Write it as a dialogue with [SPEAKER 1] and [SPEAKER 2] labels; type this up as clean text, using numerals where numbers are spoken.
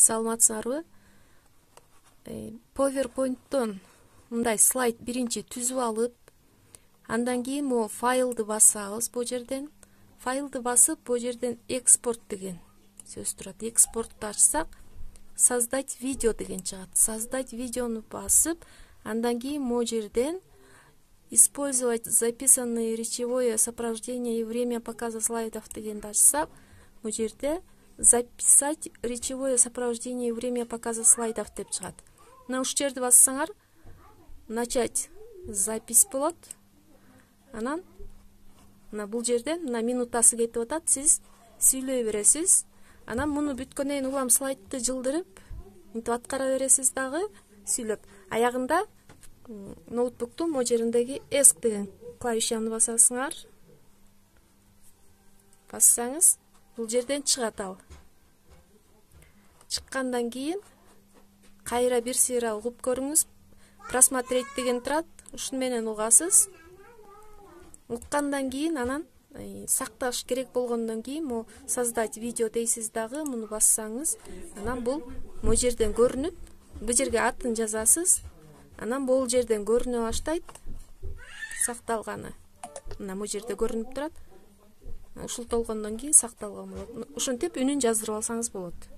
[SPEAKER 1] Саламатсыңарбы? PowerPoint'тон мындай слайд биринчи түзүп алып, андан кийин могу файлды басабыз бу жерден. Файлды басып, бу жерден экспорт деген сөз турат. Экспортту ачсак, создать видео деген чыгат. Создать видеону басып, андан кийин могу жерден использовать записанное речевое сопровождение и время показа слайдов дегенди ачсак, бу жерде записать речевое сопровождение и время показа слайдов деп чыгат. Мына ушул жерди бассаңар, начать запись болот. Анан мына бул жерден мына минутасы кетип атат, сиз сүйлөй бересиз. Анан муну бүткөндөн кийин улам слайдты жылдырып, мынтип аткара бересиз дагы сүйлөп. Аягында ноутбуктун могу жериндеги ESC деген клавишаны басасыңар. Бассаңыз, бул жерден чыгат ал. Чыккандан кийин кайра бир сыйра угуп көрүңүз. Просмотреть деген турат, ушуну менен угасыз. Уккандан кийин анан сакташ керек болгондон кийин могу создать видео дейсиз дагы, муну бассаңыз, анан бул могу жерден көрүнүп, бул жерге атын жазасыз. Анан бул жерден көрүнө баштайт сакталганы. Мына бул жерде көрүнүп турат. Ушул толгондон кийин сакталган болот. Ушинтип үнүн жаздырып алсаңыз болот.